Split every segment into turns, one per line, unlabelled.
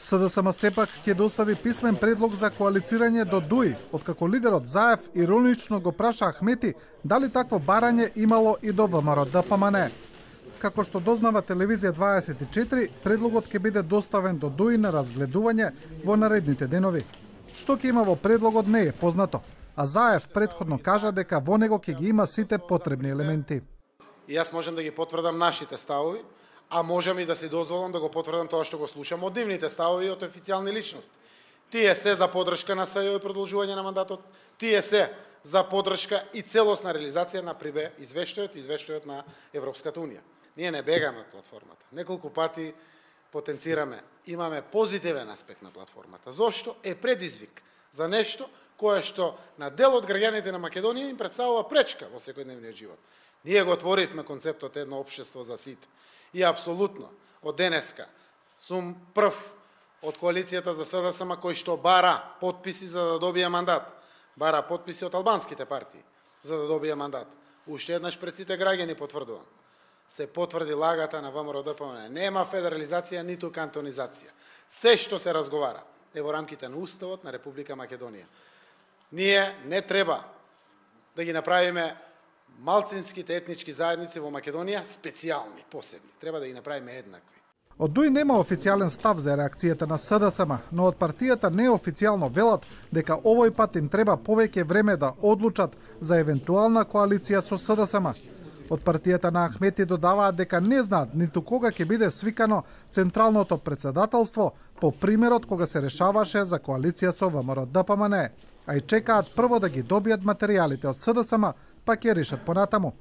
СДСМ сепак ќе достави писмен предлог за коалицирање до ДУИ, откако лидерот Заев иронично го праша Ахмети дали такво барање имало и до ВМРО-ДПМН. Како што дознава телевизија 24, предлогот ќе биде доставен до ДУИ на разгледување во наредните денови. Што ќе има во предлогот не е познато, а Заев претходно кажа дека во него ќе ги има сите потребни елементи.
И јас можам да ги потврдам нашите ставови, а можам и да си дозволам да го потврдам тоа што го слушам од нивните ставови од официјални личности. Тие се за поддршка на СЈО и продолжување на мандатот, тие се за поддршка и целосна реализација на ПРИБЕ извештајот на Европската Унија. Ние не бегаме од платформата. Неколку пати потенцираме, имаме позитивен аспект на платформата. Зошто? Е предизвик за нешто кое што на дел од граѓаните на Македонија им представува пречка во секојдневниот живот. Ние го отворивме концептот едно општество за сите. И апсолутно, од денеска, сум прв од коалицијата за СДСМ кој што бара потписи за да добие мандат. Бара потписи од албанските партии за да добие мандат. Уште еднаш пред сите граѓани потврдувам. Се потврди лагата на ВМРО-ДПМН. Нема федерализација, ниту кантонизација. Се што се разговара е во рамките на Уставот на Република Македонија. Ние не треба да ги направиме малцинските етнички заедници во Македонија специјални, посебни. Треба да ги направиме еднакви.
Од ДУИ нема официјален став за реакцијата на СДСМ, но од партијата неофицијално велат дека овој пат им треба повеќе време да одлучат за евентуална коалиција со СДСМ. Од партијата на Ахмети додаваат дека не знаат ниту кога ќе биде свикано Централното председателство по примерот кога се решаваше за коалиција со ВМРО-ДПМН, а и чекаат прво да ги добијат материјалите од СДСМ, па ќе решат понатаму.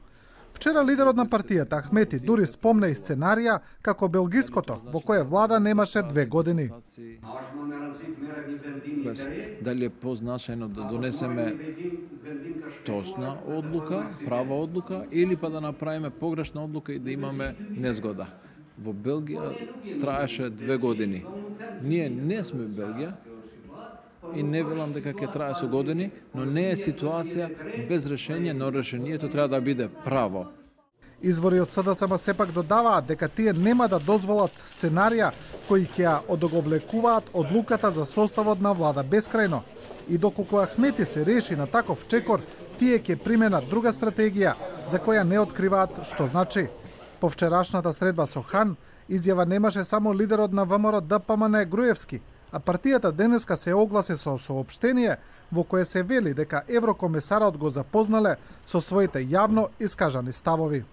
Вчера лидерот на партијата Ахмети дури спомна и сценарија како белгиското, во кое влада немаше 2 години.
Дали е позначајно да донесеме точна одлука, права одлука, или па да направиме погрешна одлука и да имаме незгода. Во Белгија траеше 2 години. Ние не сме Белгија, и не велам дека ќе трае со години, но не е ситуација без решение, но решението треба да биде право.
Извори од СДСМ сепак додаваат дека тие нема да дозволат сценарија кои ќе ја одоговлекуваат одлуката за составот на влада бескрајно. И доколку Ахмети се реши на таков чекор, тие ќе применат друга стратегија за која не откриваат што значи. По вчерашната средба со Хан, изјава немаше само лидерот на ВМРО-ДПМН Груевски, а партијата денеска се огласи со соопштение во кое се вели дека еврокомесарот го запознале со своите јавно искажани ставови.